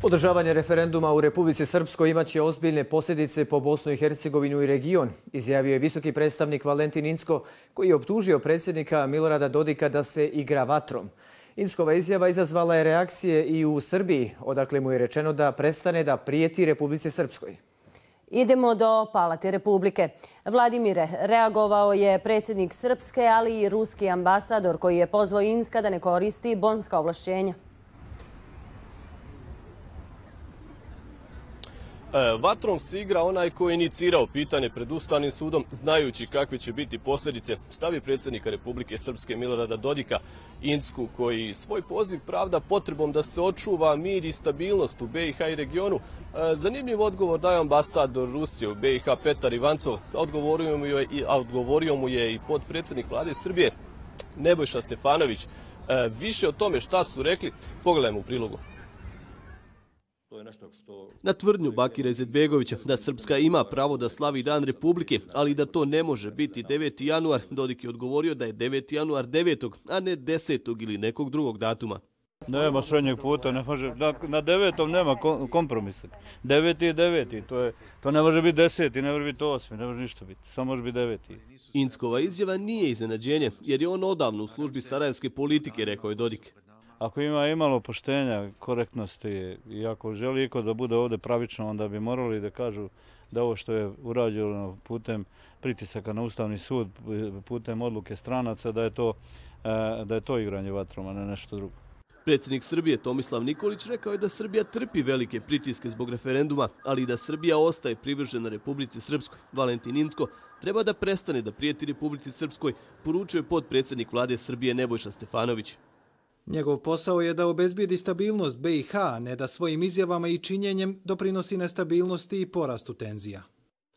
Održavanje referenduma u Republici Srpskoj imaće ozbiljne posljedice po Bosnu i Hercegovinu i region, izjavio je visoki predstavnik Valentin Incko, koji je optužio predsjednika Milorada Dodika da se igra vatrom. Inckova izjava izazvala je reakcije i u Srbiji, odakle mu je rečeno da prestane da prijeti Republici Srpskoj. Idemo do Palate Republike. Vladimire, reagovao je predsjednik Srpske, ali i ruski ambasador koji je pozvao Incka da ne koristi bonska ovlašćenja. Vatrom se igra onaj koji je inicirao pitanje pred Ustavnim sudom, znajući kakve će biti posljedice. Stav je predsjednika Republike Srpske Milorada Dodika Incku, koji svoj poziv pravda potrebom da se očuva mir i stabilnost u BiH i regionu. Zanimljiv odgovor daje ambasador Rusije u BiH Petar Ivancov. Odgovorio mu je i potpredsjednik vlade Srbije Nebojša Stefanović. Više o tome šta su rekli pogledajmo u prilogu. Na tvrdnju Bakira Izetbegovića da Srpska ima pravo da slavi Dan Republike, ali da to ne može biti 9. januar, Dodik je odgovorio da je 9. januar 9. a ne 10. ili nekog drugog datuma. Nema srednjeg puta, ne može, na 9. nema kompromisa. 9. je 9. To ne može biti 10. ne može biti 8. ne može ništa biti, samo može biti 9. Inckova izjava nije iznenađenje, jer je on odavno u službi sarajevske politike, rekao je Dodik. Ako ima imalo poštenja, korektnosti i ako želi iko da bude ovdje pravično, onda bi morali da kažu da ovo što je urađeno putem pritisaka na Ustavni sud, putem odluke stranaca, da je to igranje vatrom, a ne nešto drugo. Predsjednik Srbije Tomislav Nikolić rekao je da Srbija trpi velike pritiske zbog referenduma, ali i da Srbija ostaje privržena Republici Srpskoj. Valentin Incko treba da prestane da prijeti Republici Srpskoj, poručio je potpredsjednik vlade Srbije Nebojša Stefanović. Njegov posao je da obezbijedi stabilnost BiH, a ne da svojim izjavama i činjenjem doprinosi nestabilnosti i porastu tenzija.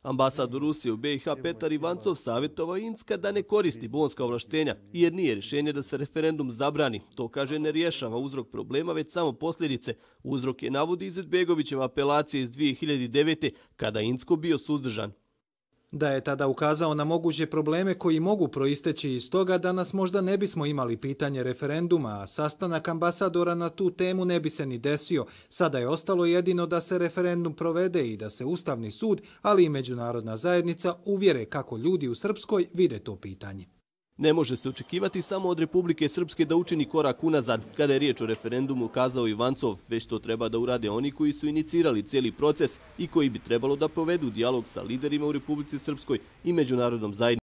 Ambasador Rusije u BiH Petar Ivancov savjetovao Incka da ne koristi bonska ovlaštenja, jer nije rješenje da se referendum zabrani. To, kaže, ne rješava uzrok problema, već samo posljedice. Uzrok je, navodi Izetbegovićeva apelacija iz 2009. kada je Incko bio suzdržan. Da je tada ukazao na moguće probleme koji mogu proisteći iz toga, danas možda ne bismo imali pitanje referenduma, a sastanak ambasadora na tu temu ne bi se ni desio. Sada je ostalo jedino da se referendum provede i da se Ustavni sud, ali i međunarodna zajednica uvjere kako ljudi u Srpskoj vide to pitanje. Ne može se očekivati samo od Republike Srpske da učini korak unazad. Kada je riječ o referendumu, kazao Ivancov, već to treba da urade oni koji su inicirali cijeli proces i koji bi trebalo da povedu dijalog sa liderima u Republici Srpskoj i međunarodnom zajednicom.